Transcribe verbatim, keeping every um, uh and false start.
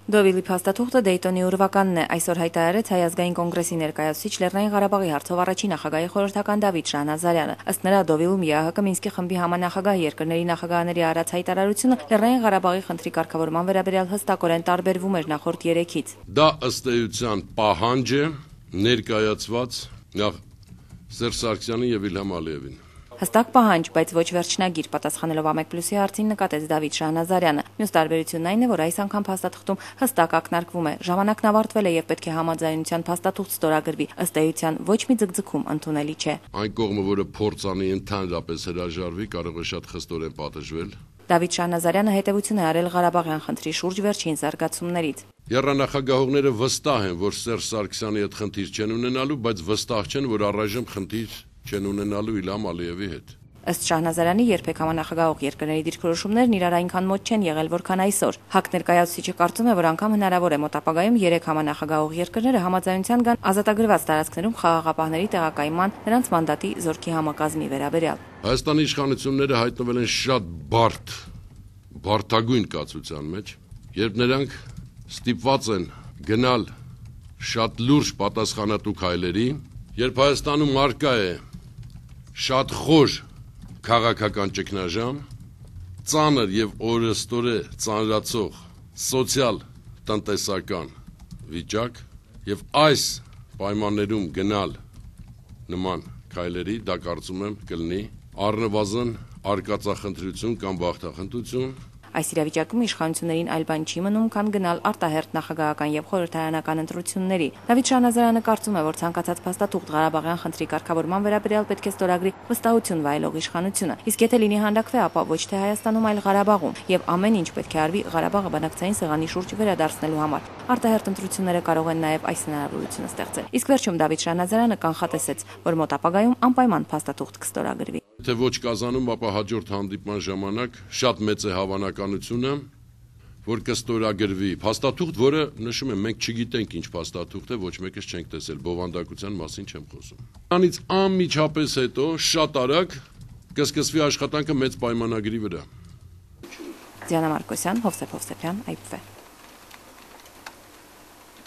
Դովիլի փաստաթուղթը Դեյտոնի ուրվականն է, այսօր հայտարարեց Հայ ազգային կոնգրեսի ներկայացուցիչ Լեռնային Ղարաբաղի հարցով առաջին նախագահի խորհրդական Դավիթ Շահնազարյանը։ Ըստ նրա, Դովիլում ԵԱՀԿ Մինսկի խմբի համանախագահ երկրների նախագահաների արած հայտարարությունը Լեռնային Ղարաբաղի խնդրի կարգավորման վերաբերյալ հստակորեն տարբերվում էր նախորդ երեքից։ Դա ըստ էության պահանջ է ներկայացված նախ Սերժ Սարգսյանին եւ Իլհամ Ալիևին։ Հստակ պահանջ, բայց ոչ վերջնագիր, պատասխանելով Ամեկ Պլյուսի հարցին նկատեց Դավիթ Շահնազարյանը։ Մյուս տարբերությունն այն է, որ այս անգամ փաստաթղթում հստակ ակնարկվում է. ժամանակն ավարտվել է եւ պետք է համաձայնության փաստաթուղթ ստորագրվի։ Ըստ էության ոչ մի ձգձգում ընդունելի չէ։ Այն կողմը, որը փորձանի ընդհանրապես հրաժարվի, կարող է շատ խստորեն պատժվել։ Դավիթ Շահնազարյանը հետևություն է արել Ղարաբաղյան խնդրի շուրջ վերջին զարգացումներից։ Եռանախագահողները վստահ են, որ Սերժ Սարգսյանի հետ խնդիր չեն ունենալու, բայց վստահ չեն, որ առայժմ խնդիր չեն ունենալու Իլհամ Ալիևի հետ։ Ըստ Շահնազարյանի, երբեք համանախագահող երկրների դիրքորոշումներն իրար այնքան մոտ չեն եղել, որքան այսօր։ ՀԱԿ ներկայացուցիչը կարծում է, որ անգամ հնարավոր է մոտ ապագայում երեք համանախագահող երկրները համաձայնության գան ազատագրված տարածքներում խաղաղապահների տեղակայման, նրանց մանդատի զորքի համակազմի վերաբերյալ։ Հայաստանի իշխանությունները հայտնվել են շատ բարդ, բարդագույն կացության մեջ, երբ նրանք ստիպված են գնալ շատ լուրջ պատասխանատու քայլերի, երբ Հայաստանում արկա է շատ խոր քաղաքական ճգնաժամ, ծանր եւ օրըստօրե ծանրացող սոցիալ տնտեսական վիճակ եւ այս պայմաններում գնալ նման քայլերի, դա կարծում եմ կլինի առնվազն արկածախնդրություն կամ բախտախնդրություն։ Այս իրավիճակում իշխանություններին այլ բան չի մնում, քան գնալ արտահերթ նախագահական եւ խորհրդարանական ընտրությունների։ Դավիթ Շահնազարյանը կարծում է, որ ցանկացած փաստաթուղթ Ղարաբաղյան խնդրի կարգավորման վերաբերյալ պետք է ստորագրի վստահություն վայելող իշխանությունը, իսկ եթե լինի հանդակվե, ապա ոչ թե Հայաստանում, այլ Ղարաբաղում, եւ ամեն ինչ պետք է արվի Ղարաբաղը բանակցային սեղանի շուրջ վերադարձնելու համար։ Արտահերթ ընտրությունները կարող են նաեւ այս հնարավորությունը ստեղծել։ Իսկ վերջում Դավիթ Շահնազարյանը կանխատեսեց, որ մոտ ապագայում անպայման փաստաթուղթ կստորագրվի։ Եթե ոչ Կազանում, ապա հաջորդ հանդիպման ժամանակ շատ մեծ է հավանականությունը, որ կստորագրվի փաստաթուղթ, որը նշում եմ, մենք չգիտենք ինչ փաստաթուղթ է, ոչ մեկս չենք տեսել, բովանդակության մասին չեմ խոսում։ Դրանից անմիջապես հետո շատ արագ կսկսվի աշխատանքը մեծ պայմանագրի վրա։ Դիանա Մարկոսյան, Հովսեփ Հովսեփյան, Այ Փ Վ։